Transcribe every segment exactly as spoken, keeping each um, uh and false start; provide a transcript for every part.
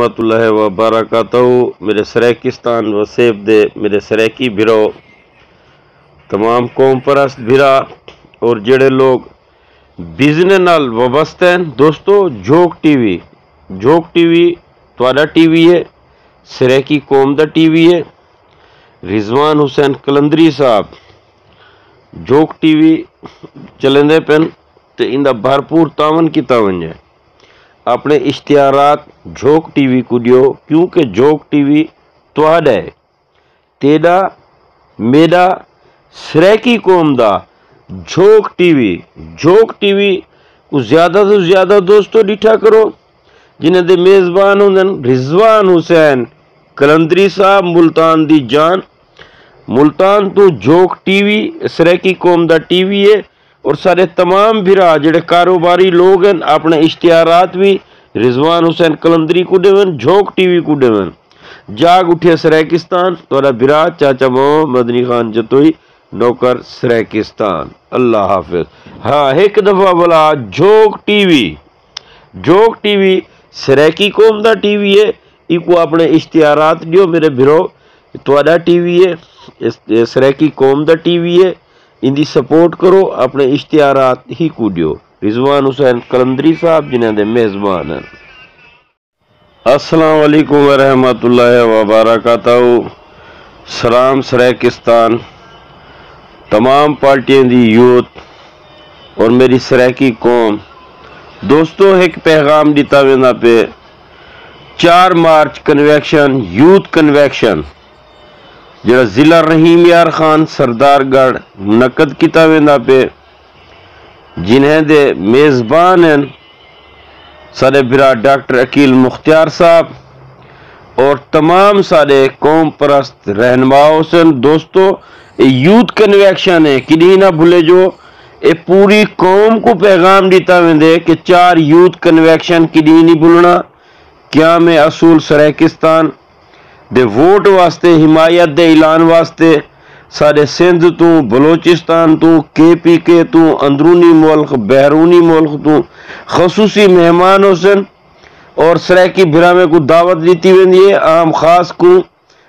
ورحمۃ اللہ وبرکاتہ۔ میرے سرائیکستان وسیب دے میرے سرائیکی بھرو، تمام قوم پرست بھرا، اور جڑے لوگ بزنس نال وابستہ ہیں، دوستو، جھوک ٹی وی، جھوک ٹی وی تہاڈا ٹی وی ہے، سرائیکی قوم دا ٹی وی ہے۔ رضوان حسین قلندری صاحب جھوک ٹی وی چلیندے پن، تے ایندا بھرپور تعاون کیتا ونجے۔ اپنے اشتہارات جھوک ٹی وی کوں ݙیو، کیونکہ جھوک ٹی وی تہاݙا ہے، تیݙا، میݙا، سرائیکی قوم دا۔ جھوک ٹی وی، جھوک ٹی وی کوں زیادہ توں زیادہ دوستو ݙٹھا کرو، جنہاں دے میزبان ہوندن رضوان حسین قلندری صاحب، ملتان دی جان۔ ملتان توں جھوک ٹی وی سرائیکی قوم دا ٹی وی ہے، اور سارے تمام بھرا جڑے کاروباری لوگ ہیں، اپنے اشتہارات بھی رضوان حسین قلندری کو ݙیون، جھوک ٹی وی کو ݙیون۔ جاگ اٹھے سرائیکستان، تہاݙا بھرا چاچا محمد مدنی خان جتوئی، نوکر سرائیکستان۔ اللہ حافظ۔ ہاں، ہک دفعہ بلا جھوک ٹی وی، جھوک ٹی وی سرائیکی قوم دا ٹی وی ہے، ایکو اپنے اشتہارات ݙیو میرے بھرو، تہاݙا ٹی وی ہے، اس، اے سرائیکی قوم دا ٹی وی ہے، ایندی سپورٹ کرو، اپنے اشتہارات ہی کوں ݙیو۔ رضوان حسین قلندری صاحب جنہاں دے میزبان ہیں۔ السلام علیکم ورحمۃ اللہ وبرکاتہ۔ سلام سرائیکستان، تمام پارٹیاں دی یوتھ اور میری سرائیکی قوم۔ دوستو، ہک پیغام ݙتا ویندا پئے، چار مارچ کنویکشن، یوتھ کنویکشن، جڑا ضلع رحیم یار خان سردار گڑھ منعقد کیتا ویندا پئے، جنہیں دے میزبان ہیں ساݙے بھرا ڈاکٹر عقیل مختیار صاحب اور تمام ساݙے قوم پرست رہنما ہوسن۔ دوستو، اے یوتھ کنویکشن ہے، کݙی نہ بھلے جو۔ اے پوری قوم کو پیغام ݙتا ویندے کہ چار یوتھ کنویکشن کݙی نہیں بھلنا۔ قیام اصول سرائیکستان دے ووٹ واسطے، حمایت دے اعلان واسطے ساݙے سندھ توں، بلوچستان توں، کے پی کے توں، اندرونی ملک، بیرونی ملک توں خصوصی مہمان ہوسن اور سرائیکی بھراویں کوں دعوت ݙتی ویندی ہے، عام خاص کوں،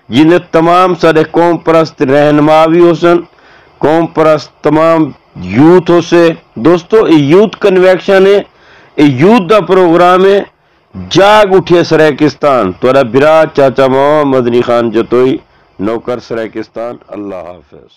جیندے تمام ساݙے قوم پرست رہنما وی ہوسن، قوم پرست تمام یوتھ ہوسے۔ دوستو، اے یوتھ کنویکشن ہے، اے یوتھ دا پروگرام ہے۔ جاگ اٹھے سرائیکستان، تہاݙا بھرا چاچا محمد مدنی خان جتوئی، نوکر سرائیکستان۔ اللہ حافظ۔